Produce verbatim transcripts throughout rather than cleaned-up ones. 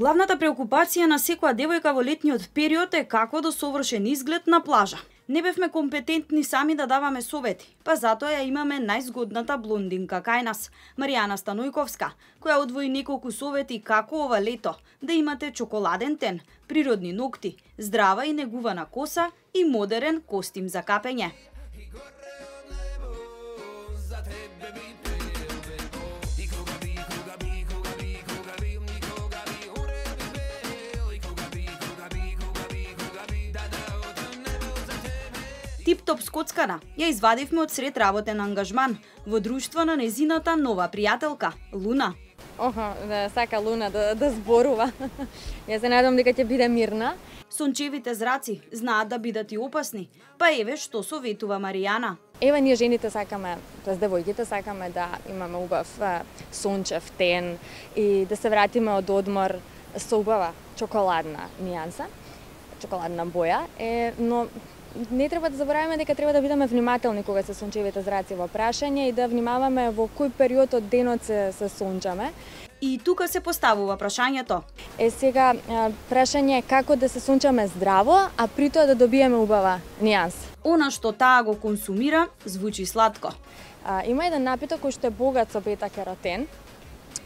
Главната преокупација на секоја девојка во летниот период е како да совршен изглед на плажа. Не бевме компетентни сами да даваме совети, па затоа ја имаме најзгодната блондинка кај нас, Маријана Станојковска, која одвои неколку совети како ова лето да имате чоколаден тен, природни ногти, здрава и негувана коса и модерен костим за капење. Тип-топ скоцкана ја извадивме од сред работен ангажман во друштво на незината нова пријателка, Луна. Охо, да сака Луна да, да зборува. Ја се надам дека ќе биде мирна. Сончевите зраци знаат да бидат и опасни, па еве што советува Маријана. Ева ние жените сакаме, тоест девојките сакаме да имаме убав сончев тен и да се вратиме од одмор со убава чоколадна нијанса, чоколадна боја, е, но не треба да забораваме дека треба да бидеме внимателни кога се сончевите зраци во прашање и да внимаваме во кој период од денот се, се сончаме. И тука се поставува прашањето. Е сега прашање е како да се сончаме здраво, а при тоа да добиеме убава нијанса. Она што таа го консумира звучи сладко. А, има еден напиток кој што е богат со бета-керотен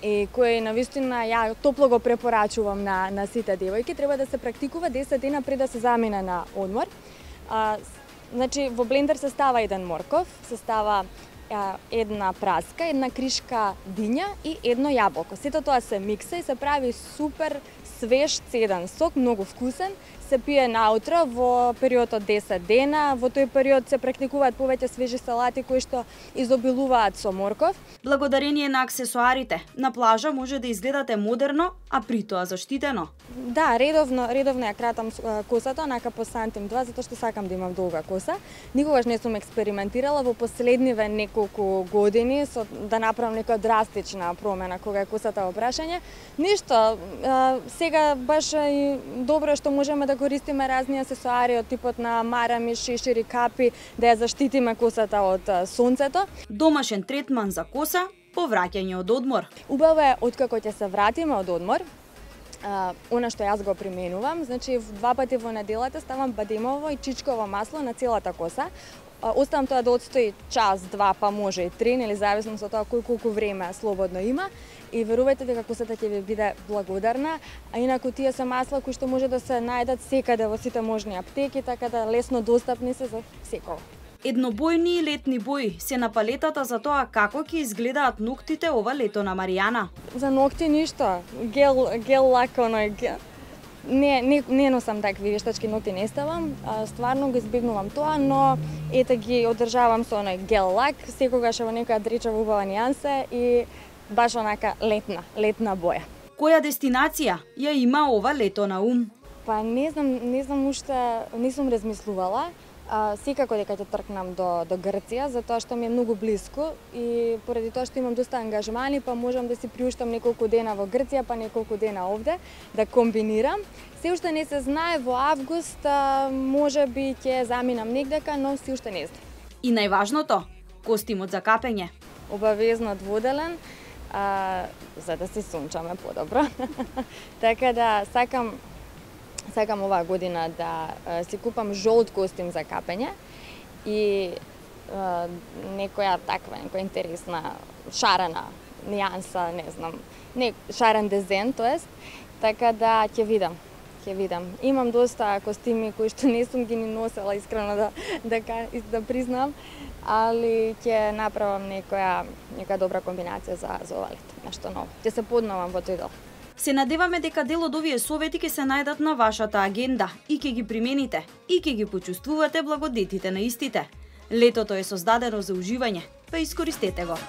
и кој навистина ја топло го препорачувам на на сите девојки. Треба да се практикува десет дена пред да се замине на одмор. А, значи, во блендер се става еден морков, се става а, една праска, една кришка диња и едно јаболко. Сето тоа се микса и се прави супер свеж цеден сок, многу вкусен. Се пие наутро во период од десет дена. Во тој период се практикуваат повеќе свежи салати кои што изобилуваат со морков. Благодарение на аксесоарите, на плажа може да изгледате модерно, а при тоа заштитено. Да, редовно, редовно ја кратам косата, онака по сантим два, затоа што сакам да имам долга коса. Никогаш не сум експериментирала во последниве неколку години со да направам нека драстична промена кога е косата во прашање. Ништо, сега баш и добро што можеме да користиме разни аксесоари од типот на марами, шешири, капи, да ја заштитиме косата од сонцето. Домашен третман за коса по враќање од одмор. Убаво е откако ќе се вратиме од одмор, а, она што јас го применувам, значи два пати во неделата ставам бадемово и чичково масло на целата коса. Оставам тоа да отстои час, два, па може и три, нели зависно со тоа кој колку време слободно има. И верувајте дека косата ќе ви биде благодарна, а инаку тие се масла кои што може да се најдат секаде во сите можни аптеки, така да лесно достапни се за секој. Еднобојни и летни бои се на палетата за тоа како ќе изгледаат ноктите ова лето на Маријана. За ногти ништо, гел, гел лак, оној гел. Не, не, не носам такви вештачки ногти, не ставам, а, стварно го избегнувам тоа, но ете ги одржавам со оној гел лак, секогаш во некоја дречава убава нијанса и баш онака летна, летна боја. Која дестинација ја има ова лето на ум? Па не знам, не знам уште, не сум размислувала. А, секако дека ќе тркнам до, до Грција, затоа што ми е многу блиску и поради тоа што имам доста ангажмани, па можам да си приуштам неколку дена во Грција, па неколку дена овде, да комбинирам. Се уште не се знае, во август а, може би ќе заминам негдека, но се уште не знам. И најважното, костимот за капење. Обавезно дводелен, а, за да се сончаме подобро. Така да сакам Сакам оваа година да а, си купам жолт костим за капење и а, некоја таква, некоја интересна шарена нијанса, не знам, не шарен дизајн, тоест, така да ќе видам, ќе видам. Имам доста костими кои што не сум ги ни носела, искрено да да да признам, али ќе направам некоја некоја добра комбинација за за ова лето, нешто ново. Ќе се подновам во тој дел. Се надеваме дека дел од овие совети ќе се најдат на вашата агенда и ќе ги примените и ќе ги почувствувате благодетите на истите. Летото е создадено за уживање, па искористете го.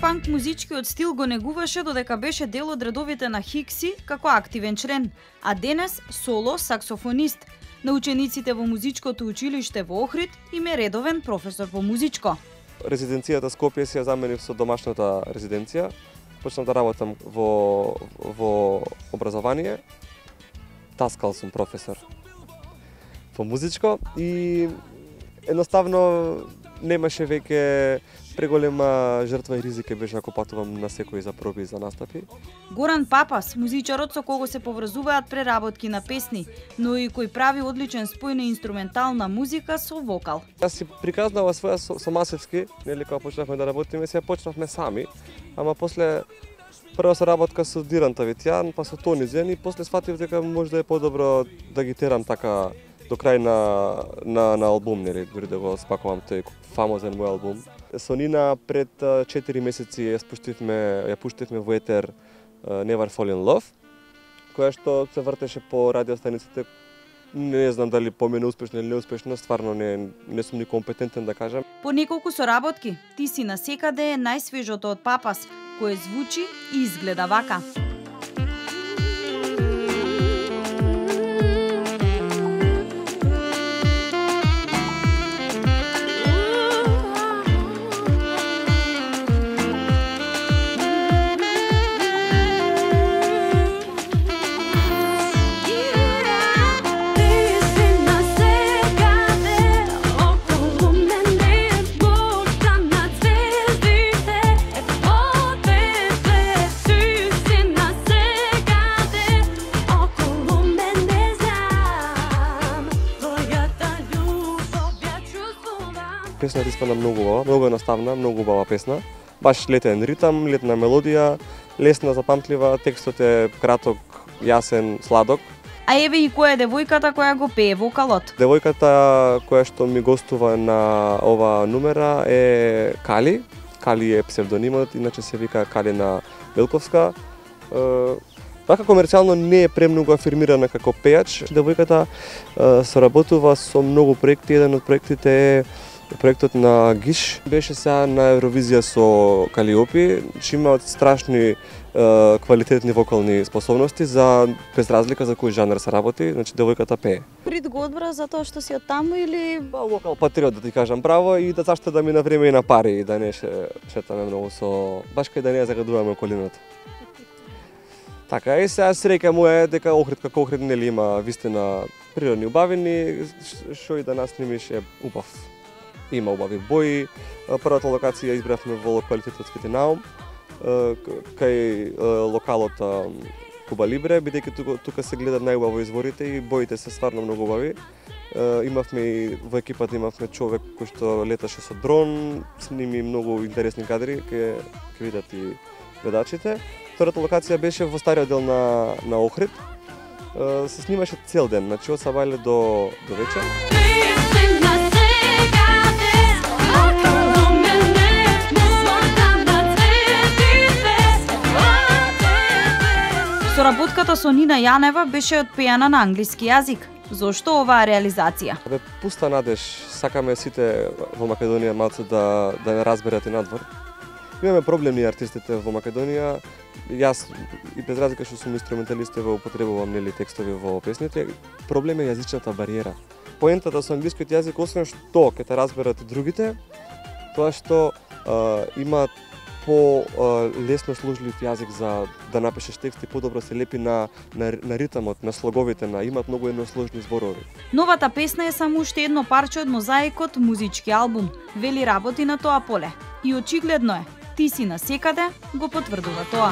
Панк музичкиот стил го негуваше додека беше дел од редовите на Хикси како активен член, а денес соло саксофонист. На учениците во музичкото училиште во Охрид им е редовен професор по музичко. Резиденцијата Скопје си ја заменив со домашната резиденција. почнав да работам во во образование, таскал сум професор во музичко и едноставно немаше веќе преголема жртва и ризик беше ако патувам на секој за проби за настапи. Горан Папас, музичарот со кого се поврзуваат преработки на песни, но и кој прави одличен спој на инструментална музика со вокал. Јас си приказнава своја со, со Масевски, нели кога почнавме да работиме, се почнавме сами, ама после прва соработка со Диран Тавитјан, па со Тони Зен и после сфатив дека можда е подобро да ги терам така до крај на на на албум, нели, дури да го спакувам тој фамозен мој албум. Со Нина пред четири месеци ја спуштивме, ја пуштивме во етер Never Fall in Love, која што се вртеше по радиостаниците. Не знам дали помена успешно или неуспешно, стварно не не сум ни компетентен да кажам. По неколку соработки, Ти си насекаде е најсвежото од Папас, кое звучи и изгледа вака. Песната испадна многу убава, многу едноставна, многу убава песна. Баш летен ритам, летна мелодија, лесна, запамтлива, текстот е краток, јасен, сладок. А еве и која е девојката која го пее вокалот? Девојката која што ми гостува на ова номера е Кали. Кали е псевдонимот, иначе се вика Калина Белковска. Вака комерцијално не е премногу афирмирана како пејач. Девојката соработува со многу проекти, еден од проектите е проектот на Гиш. Беше сега на Евровизија со Калиопи, че имаат страшни е, квалитетни вокални способности за без разлика за кој жанр се работи, значи девојката пее. Прид го одбра за тоа што си од таму или Ба, вокал патриот да ти кажам право и да зашто да ми на време и на пари и да не ше, шетаме многу со баш кај да не ја загадуваме околината. Така, и сега среќа моја е дека Охрид како Охрид нели има вистина природни убавини, што и да нас снимиш е убав. Има убави бои. Првата локација избравме во локалитетот Скитинаум, кај локалот Куба Либре, бидејќи тука, тука се гледат најубаво изворите и боите се стварно многу убави. Имавме и во екипата имавме човек кој што леташе со дрон, сними многу интересни кадри, ке ке видат и гледачите. Втората локација беше во стариот дел на на Охрид. Се снимаше цел ден, значи од сабајле до до вечер. Соработката со Нина Јанева беше одпејана на англиски јазик. Зошто оваа реализација? Бе, пуста надеж, сакаме сите во Македонија малце да да не разберат и надвор. Имаме проблемни артистите во Македонија. Јас и без разлика што сум инструменталист во употребувам нели текстови во песните, проблем е јазичната бариера. Поентата со англискиот јазик освен што ќе те разберат и другите, тоа што а, има по лесно служлив јазик за да напишеш текст и подобро се лепи на, на, на ритамот, на слоговите, на имат многу едносложни зборови. Новата песна е само уште едно парче од мозаикот музички албум. Вели работи на тоа поле. И очигледно е, Ти си насекаде го потврдува тоа.